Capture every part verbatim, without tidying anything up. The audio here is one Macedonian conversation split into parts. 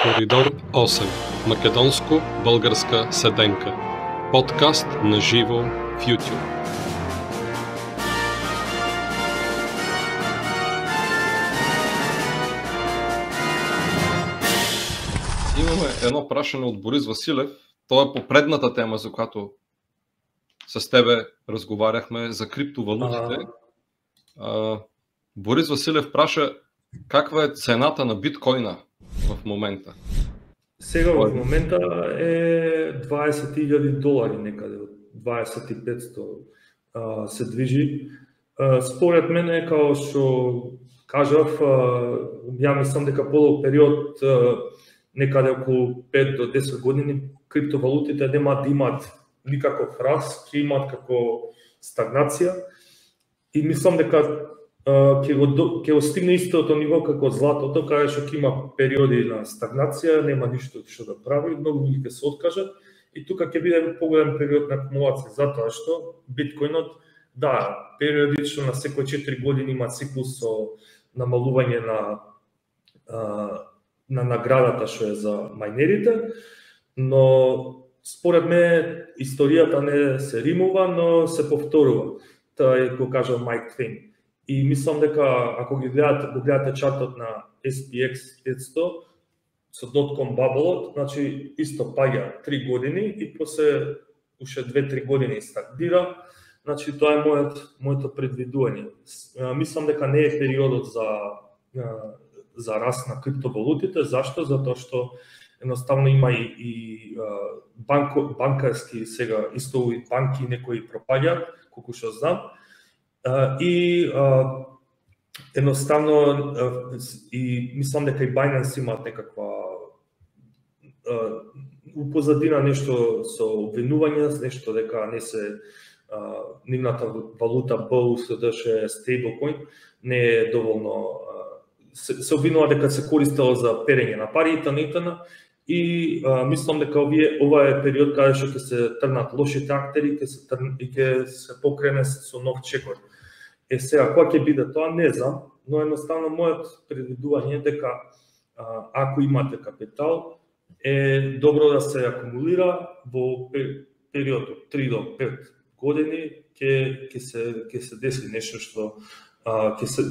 Коридор осем. Македонско-българска седенка. Подкаст на живо в YouTube. Имаме едно прашање од Борис Василев. Тоа е по предната тема за която с тебе разговаряхме за криптовалутите. А, Борис Василев праша каква е цената на биткоина в момента. Сега в момента е дваесет илјади долари, некаде од дваесет и петстотини а, се движи. А, според мене, као што кажав, а, ја мислам дека подолг период, а, некаде околу пет до десет години, криптовалутите нема да имат никаков раст, ќе имат како стагнација и мислам дека ќе го ќе го стигне истото ниво како златото, каде што ќе има периоди на стагнација, нема ништо што да прави, многу луѓе ќе се откажат и тука ќе биде поголем период на акумулација, затоа што биткоинот, да, периодично на секој четири години има циклус со намалување на на наградата што е за мајнерите, но според мене историјата не се римува, но се повторува. Тоа е го кажа Майк Твен. И мислам дека ако ги гледате, го гледате чартот на ес пи екс петстотини со дотком баблот, значи исто паѓа три години и после уште две-три години стагнира. Значи тоа е мојот моето предвидување. Мислам дека не е периодот за за раст на криптовалутите. Зашто? Затоа што едноставно има и, и банко, банкарски сега исто и банки некои пропаѓаат, колку што знам. И едноставно и мислам дека и Binance имаат некаква упозадина нешто со обвинување, нешто дека не се нивната валута би ю ес ди ше стейблкоин не е доволно, се, се обвинува дека се користело за перење на пари и итн. И а, мислам дека овие ова е период каде што ќе се трнат лошите актери, ќе се трн, и ќе се покрене со нов чекор. Е сега кога ќе биде тоа не знам, но едноставно мојот предвидување е дека а, ако имате капитал е добро да се акумулира во период од три до пет години ќе ќе се ќе се деси нешто што а, ќе се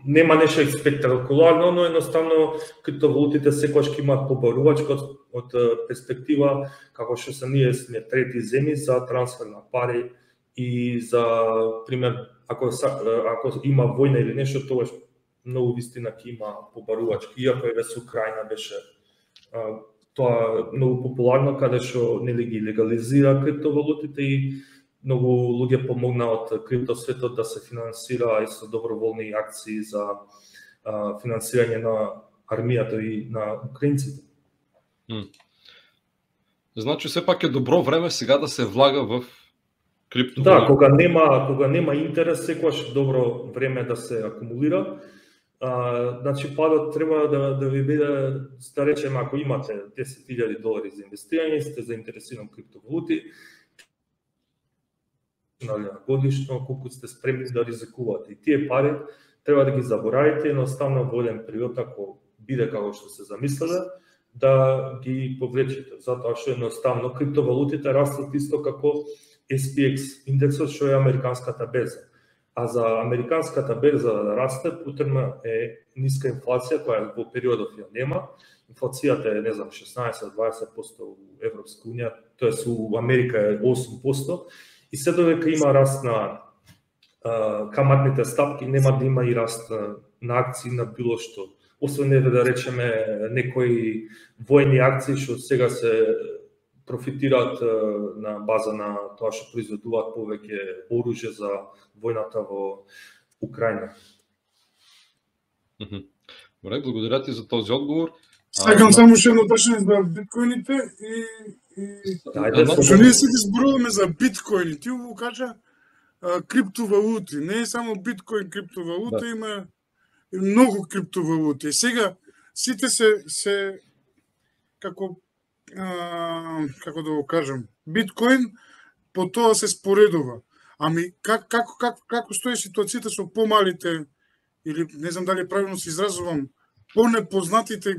нема нешто спектакуларно, но едноставно криптовалутите секогаш ќе имаат побарувачка од, од перспектива како што се ние сме трети земји за трансфер на пари и за пример ако ако има војна или нешто, тогаш многу вистина ќе има побарувачки, иако еве со Украина беше а, тоа многу популарно каде што нели ги легализира криптовалутите и многу луѓе помогна од криптосветот да се финансира и со доброволни акции за а, финансирање на армијата и на украинците. Mm. Значи сепак е добро време сега да се влага в криптовалути. Да, кога нема кога нема интерес, секогаш добро време да се акумулира. А, значи падот треба да да ви биде, да речеме, ако имате десет илјади долари за инвестирање, сте заинтересирани во криптовалути, годишно, колку сте спремни да ризикувате. И тие пари треба да ги заборавите, едноставно во еден период, ако биде како што се замислиле, да ги повлечете. Затоа што едноставно криптовалутите растат исто како ес пи екс индексот, што е американската берза. А за американската берза да расте, потребна е ниска инфлација, која во периодов ја нема. Инфлацијата е, не знам, шеснаесет до дваесет проценти во Европска унија, тоест во Америка е осум проценти. И се додека има раст на а, каматните стапки, нема да има и раст на, на акции на било што. Освен не да речеме некои војни акции што сега се профитираат а, на база на тоа што произведуваат повеќе оружје за војната во Украина. Добре, благодаря ти за този одговор. Сакам само уште едно прашање за биткоините и и што ние се зборуваме за биткоини, ти го кажа а, криптовалути, не е само биткоин криптовалута, да. Има и многу криптовалути. И сега сите се се како а, како да го кажам, биткоин по тоа се споредува. Ами как како како како стои ситуацијата со помалите или не знам дали правилно се изразувам, понепознатите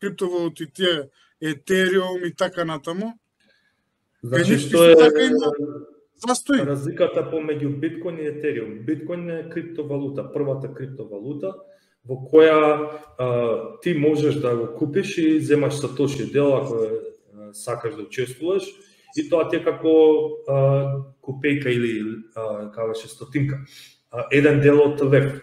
криптовалути, тие Етериум и така натаму. Значи, што е така има застој? Разликата помеѓу биткоин и Етериум? Биткоин е криптовалута, првата криптовалута во која а, ти можеш да го купиш и земаш сатоши дел ако а, сакаш да учествуваш, и тоа ти е како а, копејка или а, кажеше стотинка. А, еден дел од лев.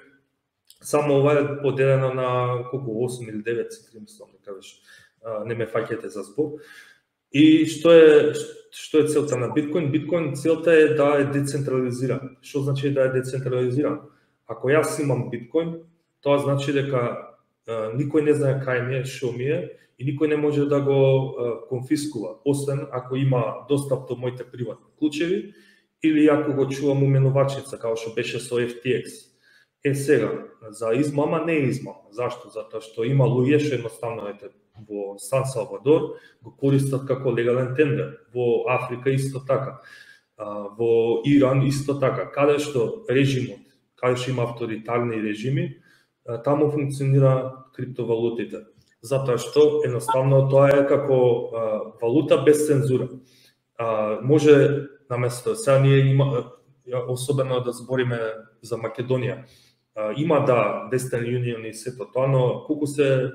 Само ова е поделено на колку осум или девет цифри, мислам да кажеш. А, не ме фаќате за збор. И што е што е целта на биткоин? Биткоин целта е да е децентрализиран. Што значи да е децентрализиран? Ако јас имам биткоин, тоа значи дека а, никој не знае кај ми е, што ми е, и никој не може да го а, конфискува, освен ако има достап до моите приватни клучеви или ако го чувам уменувачница, како што беше со Еф Ти Екс. Е сега, за измама не е измама. Зашто? Затоа што има луѓе што едноставно ете во Сан Салвадор го користат како легален тендер, во Африка исто така, во Иран исто така, каде што режимот, каде што има авторитарни режими, таму функционира криптовалутите. Затоа што едноставно тоа е како а, валута без цензура. А, може наместо сега ние има особено да збориме за Македонија. А, има да Western Union и сето тоа, но колку се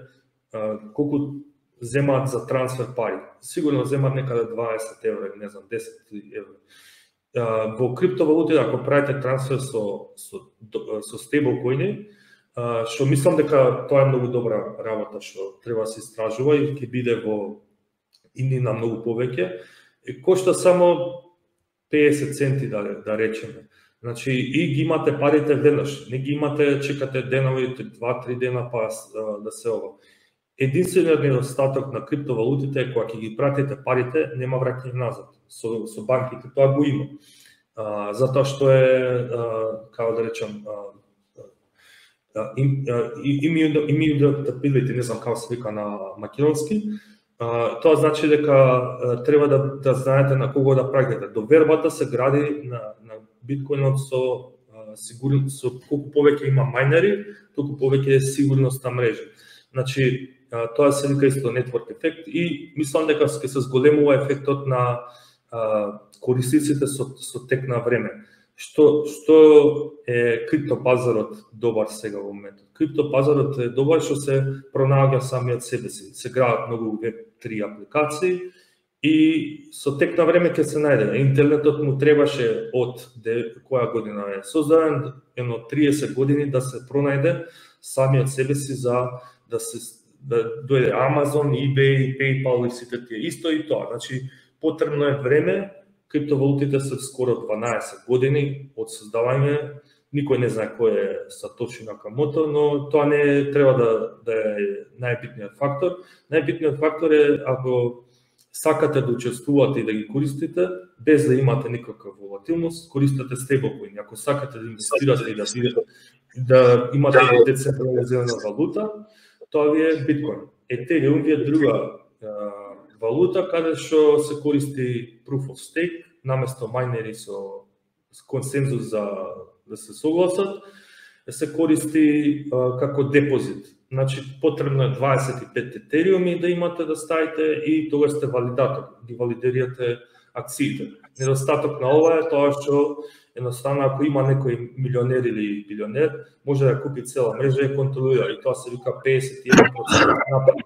а, колку земаат за трансфер пари? Сигурно земаат некаде дваесет евра, не знам, десет евра. А, во криптовалути ако правите трансфер со со со стейблкоини, што мислам дека тоа е многу добра работа што треба да се истражува и ќе биде во иднина многу повеќе. Кошта само педесет центи да да речеме. Значи и ги имате парите веднаш, не ги имате чекате денови, два-три дена па да се ова. Единствениот недостаток на криптовалутите е кога ќе ги пратите парите, нема враќање назад. Со со банките тоа го има. А, затоа што е а, како да речам а, immutability, не знам како се вика на македонски. Тоа значи дека треба да, да знаете на кого да праќате. Довербата се гради на, на биткоинот со сигурност, со колку повеќе има мајнери, толку повеќе е сигурност на мрежа. Значи, тоа се вика исто network ефект и мислам дека ќе се зголемува ефектот на а, корисниците со, со тек на време. Што што е криптопазарот добар сега во моментот? Криптопазарот е добар што се пронаоѓа самиот себе си. Се градат многу веб три апликации и со тек на време ќе се најде. Интернетот му требаше од де, која година е создаден, едно триесет години да се пронајде самиот себе си за да се да дојде Amazon, eBay, PayPal и сите тие. Исто и тоа. Значи потребно е време. Криптовалутите се скоро дванаесет години од создавање. Никој не знае кој е Сатоши Накамото, но тоа не треба да, да е најбитниот фактор. Најбитниот фактор е ако сакате да учествувате и да ги користите, без да имате никаква волатилност, користете стейблкоини. Ако сакате да инвестирате и да, да имате децентрализирана валута, тоа ви е биткоин. Етериум ви е друга валута каде што се користи proof of stake, наместо мајнери со консензус за да се согласат, се користи а, како депозит. Значи потребно е дваесет и пет етериуми да имате да ставите и тогаш сте валидатор, ги валидирате акциите. Недостаток на ова е тоа што едноставно ако има некој милионер или билионер, може да купи цела мрежа и контролира и тоа се вика педесет и еден процент напад.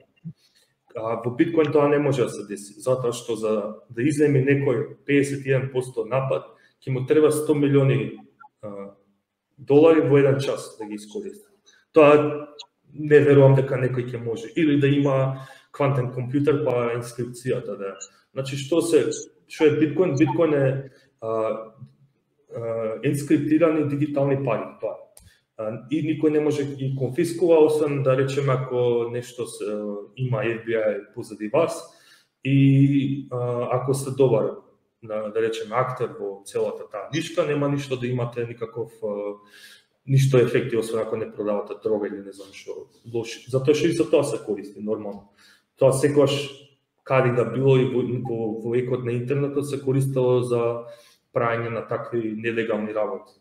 А во биткоин тоа не може да се деси, затоа што за да изземи некој педесет и еден процент напад, ќе му треба сто милиони а, долари во еден час да ги искористи. Тоа не верувам дека некој ќе може, или да има квантен компјутер па инскрипцијата да. Значи што се што е биткоин? Биткоин е а, а, инскриптирани дигитални пари, тоа. И никој не може ги конфискува, освен да речеме ако нешто се, има Еф Би Ај позади вас и а, ако сте добар, да, да речеме актер во целата таа нишка, нема ништо да имате никаков а, ништо ефекти, освен ако не продавате дрога или не знам што лоши. Затоа што и за тоа се користи нормално. Тоа секогаш каде да било и во, во, во екот на интернетот се користело за правење на такви нелегални работи.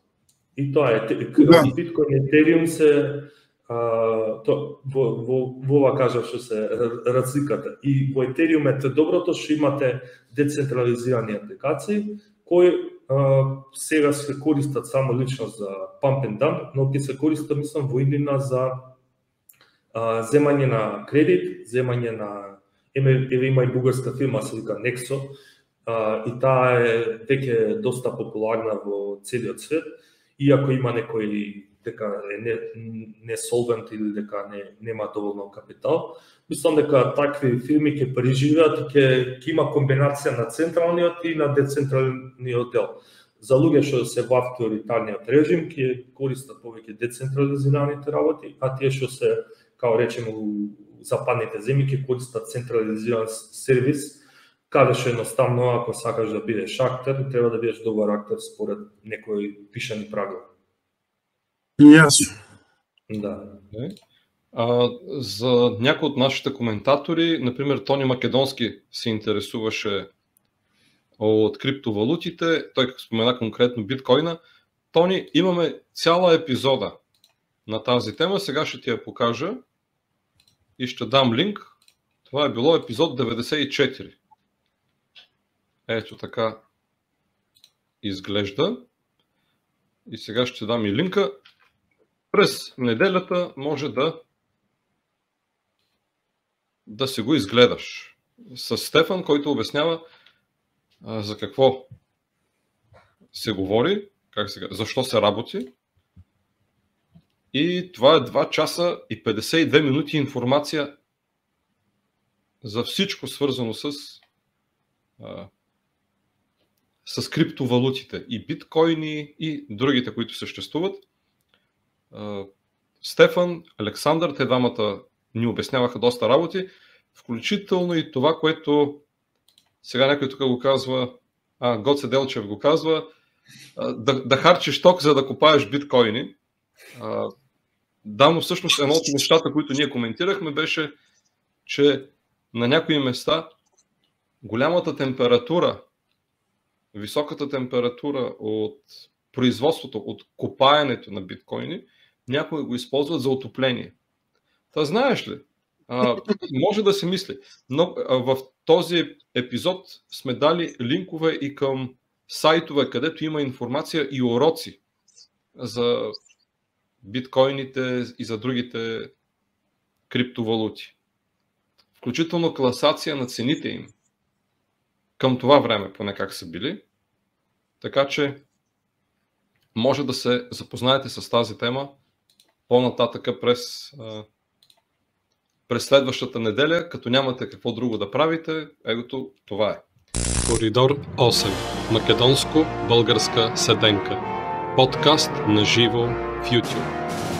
И тоа е, да. Биткоин и Етериум се а, то, во, во, во ова кажав што се разликата. И во Ethereum е доброто што имате децентрализирани апликации, кои а, сега се користат само лично за pump and dump, но ќе се користат, мислам, во иднина за а, земање на кредит, земање на, еве има и бугарска фирма, се вика Nexo, а, и таа е веќе доста популарна во целиот свет, иако има некои дека е не, не солвент или дека не, нема доволно капитал. Мислам дека такви фирми ќе преживеат и ќе, ќе има комбинација на централниот и на децентралниот дел. За луѓе што се во авторитарниот режим ќе користат повеќе децентрализираните работи, а тие што се, као речеме, у западните земји ќе користат централизиран сервис, каде што едноставно ако сакаш да бидеш актер, треба да бидеш добар актер според некои пишани правила. Јасно. Да. А, за някои от нашите коментатори, например Тони Македонски се интересуваше от криптовалутите, той спомена конкретно биткоина. Тони, имаме цяла епизода на тази тема, сега ще ти я покажа и ще дам линк. Това е било епизод деветдесет и четири. Ето така изглежда. И сега ще дам и линка. През неделята може да да си го изгледаш с Стефан, който обяснява а, за какво се говори, как се, защо се работи. И това е два часа и петдесет и две минути информация за всичко свързано с а, с криптовалутите и биткоини и другите, които съществуват. Стефан, Александър, те двамата ни обясняваха доста работи, включително и това, което сега някой тук го казва, а, Гоце Делчев го казва, да, да харчиш ток, за да купаеш биткоини. Да, но всъщност едно от нещата, които ние коментирахме, беше, че на някои места голямата температура, високата температура от производството, от копаенето на биткоини, някои го използват за отопление. Та знаеш ли, а, може да се мисли, но а, в този епизод сме дали линкове и към сайтове, където има информация и уроци за биткоините и за другите криптовалути. Включително класация на цените им към това време, поне как са били. Така че може да се запознаете с тази тема по-нататъка през, през следващата неделя, като нямате какво друго да правите. Егото, това е. Коридор осем. Македонско-българска седенка. Подкаст на живо в YouTube.